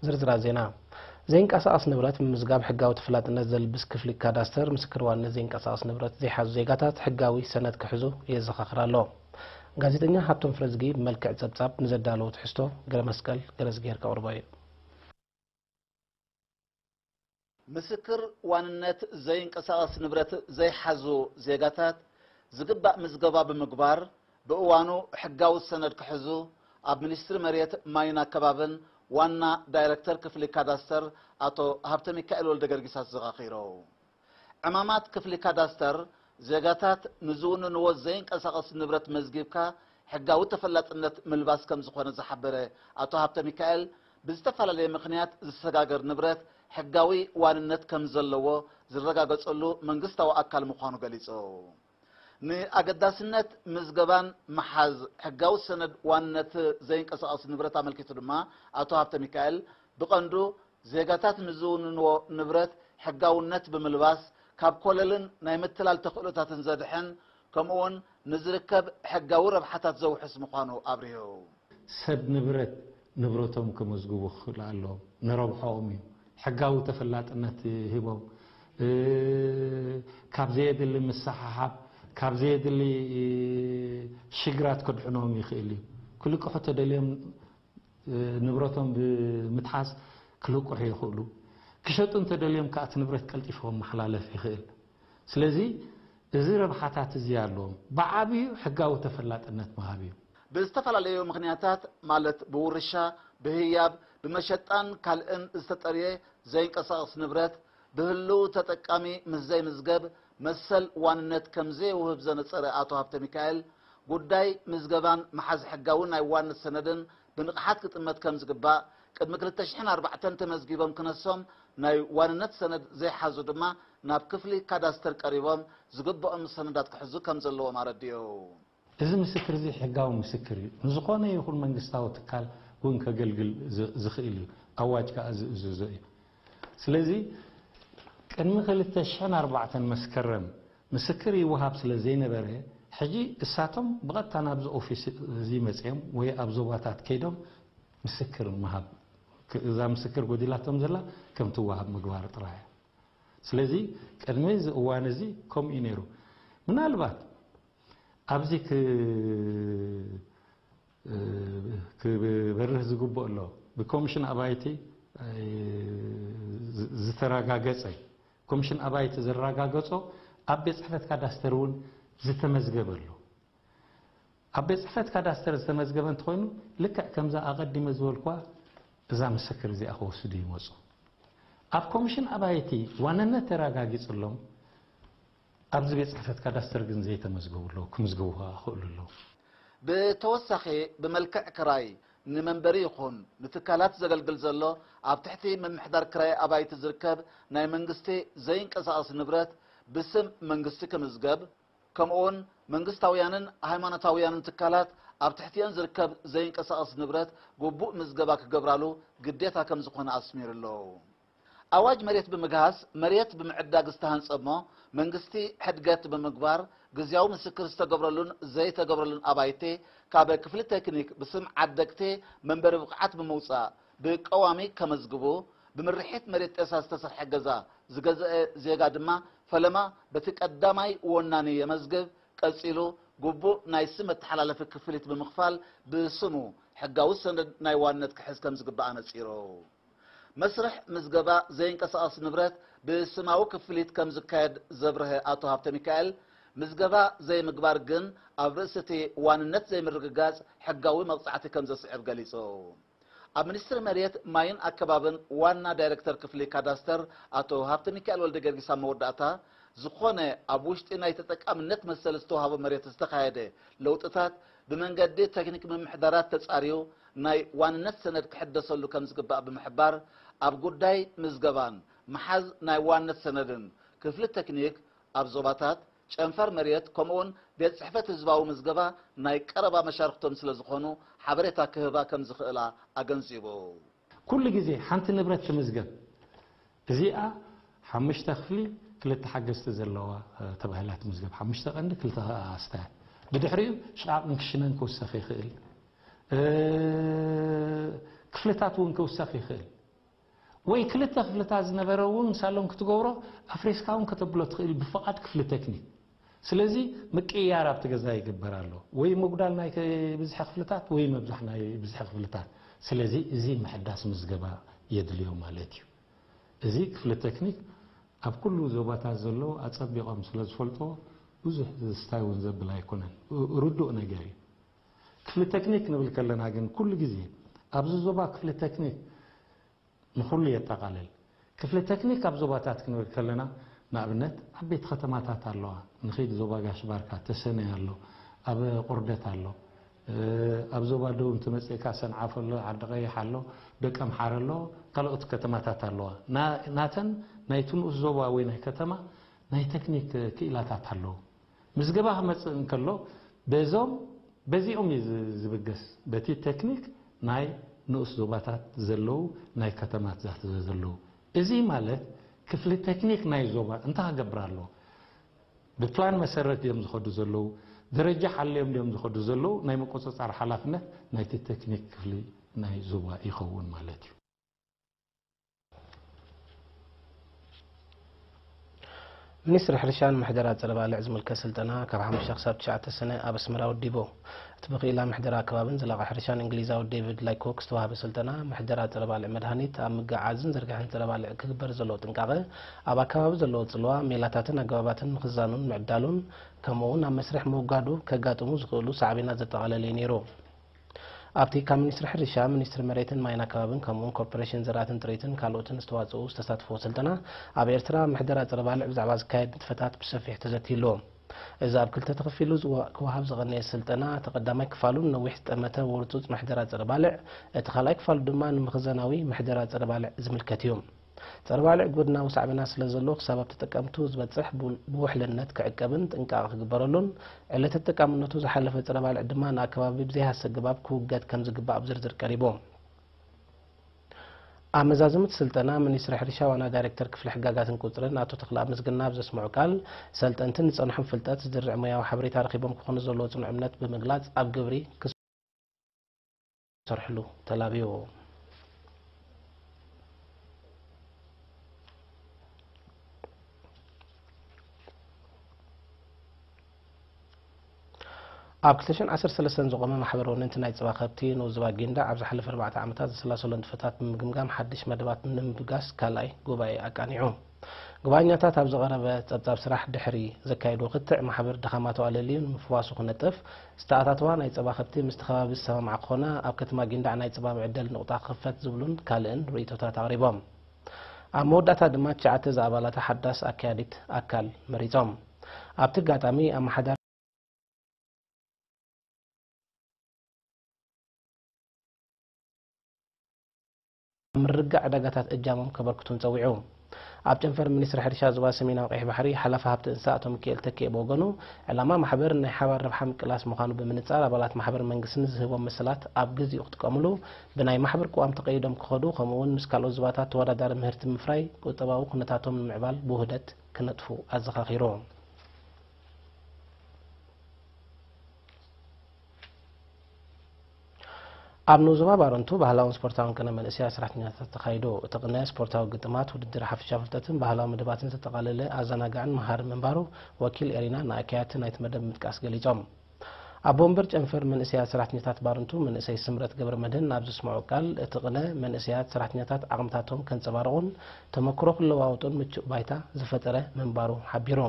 ዝርዝራት ዜና። ዘይንቀሳቐስ ንብረት ምምዝጋብ ሕጋዊ ተፈላጥነት ዘልብስ ክፍሊ ካዳስተር፣ ምስክር ዋንነት ዘይንቀሳቐስ ንብረት ዘይሓዙ ዜጋታት ሕጋዊ ሰነድ ክሕዙ የዘኻኽር ኣሎ። ጋዜጠኛ ሃብቶም ፍረዝጊ ብመልክዕ ጸብጻብ ንዘዳለዎ ትሕዝቶ፣ ገረመስቀል ገረዝጊሄር ከቕርቦ እዩ። ምስክር ዋንነት ዘይንቀሳቐስ ንብረት ዘይሓዙ ዜጋታት ዝግባእ ምዝገባ ብምግባር፣ ብእዋኑ ሕጋዊ ሰነድ ክሕዙ ኣብ ሚኒስትሪ መሬት፣ ማይን ኣከባብን ዋና ዳይረክተር ክፍሊ ካዳስተር ኣቶ ሃብተ ሚካኤል ወልደ ገርጊስ ኣዘኻኺሩ። ዕማማት ክፍሊ ካዳስተር፣ ዜጋታት ንዝውንንዎ ዘይንቀሳቐስ ንብረት መዝጊብካ ሕጋዊ ተፈላጥነት ምልባስ ከም ዝኾነ ዝሓበረ ኣቶ ሃብተ ሚካኤል፣ ብዝተፈላለየ ምኽንያት ዝሰጋገር ንብረት ሕጋዊ ዋንነት ከም ዘለዎ ዝረጋገጸሉ መንግስታዊ ኣካል ምዃኑ ገሊጹ። ንኣገዳስነት ምዝገባን ምሓዝ ሕጋዊ ሰነድ ዋንነት ዘይንቀሳቐስ ንብረት ኣመልኪቱ ድማ ኣቶ ሃብተ ሚካኤል፣ ብቐንዱ ዜጋታት ንዝውንንዎ ንብረት ሕጋውነት ብምልባስ፣ ካብ ኮለልን ናይ ምትላል ተኽእሎታትን ዘድሕን፣ ከምኡውን ንዝርከብ ሕጋዊ ረብሓታት ዘውሕስ ምዃኑ ኣብሪሁ። ሰብ ንብረት ንብረቶም ከመዝግቡ ክኽእሉ ኣለዎም። ንረብሓኦም እዩ። ሕጋዊ ተፈላጥነት ሂቦም፣ እ፣ ካብ ዘየድሊ ምስሓሓብ፣ ካብ ዘየድሊ ሽግራት ከድሕኖም ይኽእል እዩ። ክልቅሑ ተደልዮም፣ እ፣ ንብረቶም ብምትሓዝ ክልቅሑ ይኽእሉ። ክሸጡ እንተደልዮም ከኣ እቲ ንብረት ቀልጢፉ ክመሓላለፍ ይኽእል። ስለዚ እዚ ረብሓታት እዚ ኣለዎም። ብዓብዩ ሕጋዊ ተፈላጥነት ምሃብ እዩ። ብዝተፈላለዩ ምኽንያታት፣ ማለት ብውርሻ፣ ብህያብ፣ ብመሸጣን ካልእን ዝተጠርየ ዘይንቀሳቐስ ንብረት ብህልው ተጠቃሚ ምስ ዘይምዝገብ መሰል ዋንነት ከም ዘይውህብ ዘነጸረ ኣቶ ሃብተ ሚካኤል፣ ጉዳይ ምዝገባን ምሓዝ ሕጋዊ ናይ ዋንነት ሰነድን ብንቕሓት ክጥመት ከም ዝግባእ፣ ቅድሚ ክልተ ሽሕን ኣርባዕተን ተመዝጊቦም ክነሶም ናይ ዋንነት ሰነድ ዘይሓዙ ድማ ናብ ክፍሊ ካዳስተር ቀሪቦም ዝግብኦም ሰነዳት ክሕዙ ከም ዘለዎም ኣረዲኡ። እዚ ምስክር እዚ ሕጋዊ ምስክር እዩ። ንዝኾነ ይኹን መንግስታዊ ትካል እውን ከገልግል ዝ-፣ ዝኽእል እዩ። ኣዋጅ ከኣ ዝእዝዞ እዩ። ስለዚ ቅድሚ ክልተ ሽሕን ኣርባዕተን መስከረም ምስክር ይወሃብ ስለ ዘይነበረ፣ ሕጂ እሳቶም ብቐጥታ ናብዚ ኦፊስ እዚ መጺኦም ወይ ኣብ ዞባታት ከይዶም ምስክር ምሃብ፣ ክ-፣ እዛ ምስክር ጎዲላቶም ዘላ ከም ትወሃብ ምግባር ጥራይ እያ። ስለዚ ቅድሚ እዚ እዋን እዚ ከምኡ እዩ ነይሩ። ምናልባት ኣብዚ ክ-፣ ክበርህ ዝግብኦ ኣሎ። ብኮሚሽን ኣባይቲ፣ እ፣ ዝ-፣ ዝተረጋገጸ፣ ኮሚሽን ኣባይቲ ዘረጋገጾ ኣብ ቤት ጽሕፈት ካዳስተር እውን ዝተመዝገበ ኣሎ። ኣብ ቤት ጽሕፈት ካዳስተር ዝተመዝገበ እንተኾይኑ፣ ልክዕ ከምዛ ኣቐዲመ ዝበልኳ እዛ ምስክር እዚኣ ክወስዱ ይመጹ። ኣብ ኮሚሽን ኣባይቲ ዋንነት ተረጋጊጽሎም፣ ኣብዚ ቤት ጽሕፈት ካዳስተር ግን ዘይተመዝገቡ ኣለዉ፣ ክምዝገቡ ከኣ ክኽእሉ ኣለዉ። ብተወሳኺ፣ ብመልክዕ ክራይ ንመንበሪ ይኹን ንትካላት ዘገልግል ዘሎ ኣብ ትሕቲ ምምሕዳር ክራይ ኣባይቲ ዝርከብ ናይ መንግስቲ ዘይንቀሳቐስ ንብረት ብስም መንግስቲ ክምዝገብ፣ ከምኡውን መንግስታውያንን ሃይማኖታውያንን ትካላት ኣብ ትሕቲአን ዝርከብ ዘይንቀሳቐስ ንብረት ግቡእ ምዝገባ ክገብራሉ ግዴታ ከም ዝኾነ ኣስሚሩ ኣሎ። ኣዋጅ መሬት ብምግሃስ መሬት ብምዕዳግ ዝተሃንጸ እሞ መንግስቲ ሕድገት ብምግባር ግዝያዊ ምስክር ዝተገብረሉን ዘይተገብረሉን ኣባይቲ ካብ ክፍሊ ቴክኒክ ብስም ዓደግቲ መንበሪ ብቕዓት ብምውጻእ ብቀዋሚ ከመዝግቡ፣ ብምርሒት መሬት ጤሳ ዝተሰርሐ ገዛ ዝገዝአ ዜጋ ድማ ፈለማ በቲ ቀዳማይ ወናኒ የመዝግብ፣ ቀጺሉ ግቡእ ናይ ስም መተሓላለፊ ክፍሊት ብምኽፋል ብስሙ ሕጋዊ ሰነድ ናይ ዋንነት ክሕዝ ከም ዝግባእ ኣነጺሩ። መስርሕ ምዝገባ ዘይንቀሳቐስ ንብረት ብስማዊ ክፍሊት ከም ዝካየድ ዘብረሀ ኣቶ ሃብተ ሚካኤል፣ ምዝገባ ዘይምግባር ግን ኣብ ርእሲ እቲ ዋንነት ዘይምርግጋጽ ሕጋዊ መቕጻዕቲ ከም ዘስዕብ ገሊጹ። ኣብ ሚኒስትሪ መሬት፣ ማይን ኣከባብን ዋና ዳይሬክተር ክፍሊ ካዳስተር ኣቶ ሃብተ ሚካኤል ወልደ ጊዮርጊስ ኣብ መወዳእታ፣ ዝኾነ ኣብ ውሽጢ ናይ ተጠቃምነት መሰል ዝተዋህቦ መሬት ዝተኻየደ ለውጥታት ብመንገዲ ቴክኒክ ምምሕዳራት ተጻርዩ ናይ ዋንነት ሰነድ ክሕደሰሉ ከም ዝግባእ ብምሕባር፣ ኣብ ጉዳይ ምዝገባን ምሓዝ ናይ ዋንነት ሰነድን ክፍሊ ቴክኒክ ኣብ ዞባታት፣ ጨንፈር መሬት ከምኡውን ቤት ጽሕፈት ህዝባዊ ምዝገባ ናይ ቀረባ መሻርክቶም ስለ ዝኾኑ ሓበሬታ ክህባ ከም ዝኽእላ ኣገንዚቡ። ኩሉ ግዜ ሓንቲ ንብረት ትምዝገብ። እዚኣ ሓሙሽተ ክፍሊ ክልተ ሓገዝቲ ዘለዋ፣ እ፣ ተባሂላ ትምዝገብ። ሓሙሽተ ቀንዲ፣ ክልተ ኣስታት። ብድሕሪኡ ሽቓቕን ክሽነን ክውሰኽ ይኽእል። እ፣ ክፍልታት እውን ክውሰኽ ይኽእል። ወይ ክልተ ክፍልታት ዝነበረ እውን ሳሎን ክትገብሮ ኣፍሪስካ እውን ከተብሎ ትኽእል ብፍቓድ ክፍሊ ቴክኒክ። ስለዚ ምቅይያር ኣብቲ ገዛ ይግበር ኣሎ። ወይ ምጉዳል ናይ ብዝሒ ክፍልታት ወይ ምብዛሕ ናይ ብዝሒ ክፍልታት። ስለዚ እዚ ምሕዳስ ምዝገባ የድልዮ ማለት እዩ። እዚ ክፍሊ ቴክኒክ ኣብ ኩሉ ዞባታት ዘለዉ ኣጸቢቖም ስለ ዝፈልጥዎ ብዙሕ ዝስታይ እውን ዘብል ኣይኮነን። ርዱእ ነገር እዩ። ክፍሊ ቴክኒክ ንብል ከለና ግን ኩሉ ግዜ ኣብዚ ዞባ ክፍሊ ቴክኒክ ንኹሉ የጠቓልል። ክፍሊ ቴክኒክ ኣብ ዞባታት ክንብል ከለና ንኣብነት ዓበይቲ ከተማታት ኣለዋ። ንኺድ ዞባ ጋሽ ባርካ ተሰነይ ኣሎ፣ ኣብ ቁርደት ኣሎ፣ ኣብ ዞባ ደቡብ እንትመጽእካ ሰንዓፈ ኣሎ፣ ዓዲ ቀይሕ ኣሎ፣ ደቀምሓረ ኣሎ፣ ካልኦት ከተማታት ኣለዋ። ናተን ናይቲ ንኡስ ዞባ ወይ ናይ ከተማ ናይ ቴክኒክ ክኢላታት ኣለዉ። ምዝገባ ክመጽእ እንከሎ በዞም በዚኦም እዩ ዝብገስ፣ በቲ ቴክኒክ ናይ ንኡስ ዞባታት ዘለዉ ናይ ከተማታት ዘለዉ። እዚ ማለት ክፍሊ ቴክኒክ ናይ ዞባ እንታይ ክገብር ኣለዎ? ብፕላን መሰረት ድዮም ዝኸዱ ዘለዉ? ደረጃ ሓልዮም ድዮም ዝኸዱ ዘለዉ? ናይ ምቁፅፃር ሓላፍነት ናይቲ ቴክኒክ ክፍሊ ናይ ዞባ ይኸውን ማለት እዩ። ሚኒስትሪ ሕርሻን ምሕደራ ጸረ ባልዕ ዝምልከት ስልጠና ካብ ሓሙሽተ ክሳብ ትሽዓተ ሰነ ኣብ ኣስመራ ወዲቡ። እቲ ብክኢላ ምሕደራ ኣከባብን ዘላቒ ሕርሻን እንግሊዛዊ ዴቪድ ላይኮክ ዝተዋህበ ስልጠና፣ ምሕደራ ጸረ ባልዕ መድሃኒት ኣብ ምግዓዝን ዝርጋሕን ጸረ ባልዕ ክግበር ዘለዎ ጥንቃቐ፣ ኣብ ኣከባቢ ዘለዎ ጽልዋ፣ ሜላታትን ኣገባባትን ምኽዛኑን ምዕዳሉን፣ ከምኡ'ውን ኣብ መስርሕ ምውጋዱ ከጋጥሙ ዝኽእሉ ሳዕቤናት ዘጠቓለለ እዩ ነይሩ። ኣብቲ ካብ ሚኒስትሪ ሕርሻ፣ ሚኒስትሪ መሬትን ማይን ኣከባብን ከምኡ'ውን ኮርፖሬሽን ዘራእትን ጥሪትን ካልኦትን ዝተዋጽኡ ዝተሳተፍዎ ስልጠና፣ ኣብ ኤርትራ ምሕደራ ጸረ ባልዕ ብዛዕባ ዝካየድ ንጥፈታት ብሰፊሕ ተዘትይሉ። እዚ ኣብ ክልተ ተኸፊሉ ዝዋ- ክወሃብ ዝቐነየ ስልጠና፣ እቲ ቀዳማይ ክፋሉ ንነዊሕ ዝጠመተ ወርጹጽ ምሕደራ ጸረ ባልዕ፣ እቲ ካልኣይ ክፋሉ ድማ ንምኽዘናዊ ምሕደራ ጸረ ባልዕ ዝምልከት እዩ። ጸረ ባልዕ ጎድናዊ ሳዕቤናት ስለ ዘለዎ፣ ክሳብ ኣብ ተጠቀምቱ ዝበጽሕ ቡ- ብውሕልነት ክዕቀብን ጥንቃቐ ክግበረሉን፣ ዕለተ ተጠቃምነቱ ዝሓለፈ ጸረ ባልዕ ድማ ንኣከባቢ ብዘይሃሰ ኣገባብ ክውገድ ከም ዝግባእ ኣብ ዝርዝር ቀሪቡ። ኣብ መዛዘሚ እቲ ስልጠና፣ ሚኒስትሪ ሕርሻ ዋና ዳይሬክተር ክፍሊ ሕጋጋትን ቁጽርን ኣቶ ተኽለኣብ ምስግና ኣብ ዘስምዖ ቃል፣ ሰልጠንቲ ንጸንሖም ፍልጠት ዝድርዕ ሞያዊ ሓበሬታ ረኺቦም ክኾኑ ዘለዎ ጽኑዕ እምነት ብምግላጽ፣ ኣብ ግብሪ ክሰርሕሉ ተላብዩ። ኣብ ክልተ ሽሕን ዓሰርተ ሰለስተን ዝቖመ ማሕበር ወነንቲ ናይ ጸባ ከብቲ ንኡስ ዞባ ጊንዳዕ ኣብ ዝሓለፈ ኣርባዕተ ዓመታት ዘሰላሰሎ ንጥፈታት ብምግምጋም ሓድሽ መደባት ንምብጋስ ካልኣይ ጉባኤ ኣቃኒዑ። ጉባኤኛታት ኣብ ዝቐረበ ጸብጻብ ስራሕ ድሕሪ ዘካየድዎ ክትዕ፣ ማሕበር ድኻማቱ ኣለልዩ ንምፍዋሱ ክነጥፍ፣ ዝተኣታተዋ ናይ ጸባ ከብቲ ምስቲ ከባቢ ዝሰማማዕ ክኾና፣ ኣብ ከተማ ጊንዳዕ ናይ ጸባ መዕደሊ ንቑጣ ክኽፈት ዝብሉን ካልእን ርእይቶታት ኣቕሪቦም። ኣብ መወዳእታ ድማ ትሽዓተ ዝኣባላታ ሓዳስ ኣካያዲት ኣካል መሪጾም። ኣብቲ ኣጋጣሚ ኣመሓዳሪ ምርግጋእ ዕዳጋታት እጃሞም ከበርክቱን ጸዊዑ። ኣብ ጨንፈር ሚኒስትሪ ሕርሻ ዞባ ሰሜናዊ ቀይሕ ባሕሪ ሓላፊ ሃብቲ እንስሳ ኣቶ ሚካኤል ተኪኤ ብወገኑ፣ ዕላማ ማሕበር ናይ ሓባር ረብሓ ምቅላስ ምዃኑ ብምንጻር፣ ኣባላት ማሕበር መንግስቲ ንዝህቦም መሰላት ኣብ ግዚኡ ክጥቀምሉ፣ ብናይ ማሕበር ቅዋም ተቐይዶም ክኸዱ፣ ከምኡ'ውን ምስ ካልኦት ዞባታት ተወዳዳሪ ምህርቲ ብምፍራይ ቁጠባዊ ኩነታቶም ንምዕባል ብውህደት ክነጥፉ ኣዘኻኺሩ። ኣብ ንኡስ ዞባ ባረንቱ ባህላውን ስፖርታውን ቅነ መንእሰያት ሰራሕተኛታት ተኻይዱ። እቲ ቅነ ስፖርታዊ ግጥማት፣ ውድድር ሓፈሻዊ ፍልጠትን ባህላዊ መደባትን ዘጠቓለለ ኣዘናጋዕን መሃርን ምንባሩ ወኪል ኤሪና ንኣካየድቲ ናይቲ መደብ ብምጥቃስ ገሊጾም። ኣቦ ወንበር ጨንፈር መንእሰያት ሰራሕተኛታት ባረንቱ መንእሰይ ስምረት ገብረመድህን ኣብ ዘስምዖ ቃል፣ እቲ ቅነ መንእሰያት ሰራሕተኛታት ዓቕምታቶም ከንጸባርቑን ተመክሮ ክለዋወጡን ምቹእ ባይታ ዝፈጠረ ምንባሩ ሓቢሩ።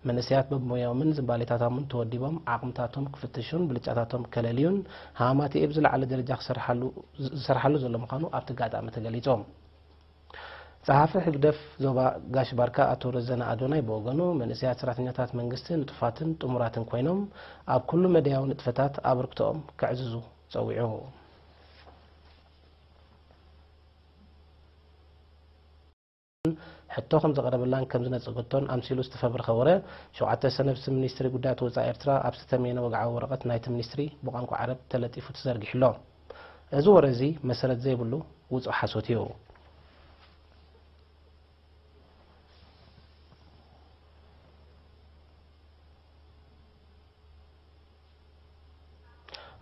መንእሰያት በብሞያኦምን ዝንባሌታቶምን ተወዲቦም ዓቕምታቶም ክፍትሹን ብልጫታቶም ከለልዩን ሃማመተኤ ብዝለዓለ ደረጃ ክሰርሓሉ ዝሰርሓሉ ዘሎ ምዃኑ ኣብቲ ኣጋጣሚ ተገሊጹ። ጸሓፊ ህግደፍ ዞባ ጋሽ ባርካ ኣቶ ረዘነ ኣዶናይ ብወገኑ፣ መንእሰያት ሰራሕተኛታት መንግስቲ ንጡፋትን ጥሙራትን ኮይኖም ኣብ ኩሉ መዳያዊ ንጥፈታት ኣበርክቶኦም ከዕዝዙ ጸዊዑ። ሕቶ ከም ዘቕረበላን ከም ዝነጸገቶን ኣምሲሉ ዝተፈብረኸ ወረ፣ ሸውዓተ ሰነ ብስም ሚኒስትሪ ጉዳያት ወጻኢ ኤርትራ ኣብ ዝተተምየነ ወግዓዊ ወረቐት ናይቲ ሚኒስትሪ ብቋንቋ ዓረብ ተለጢፉ ተዘርጊሑ ኣሎ። እዚ ወረ እዚ መሰረት ዘይብሉ ውጹእ ሓሶት እዩ።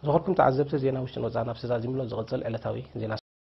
ዝኸበርኩም ተዓዘብቲ፣ ዜና ውሽጥን ወጻእን ኣብዚ ተዛዚሙ ኣሎ። ዝቕጽል ዕለታዊ ዜና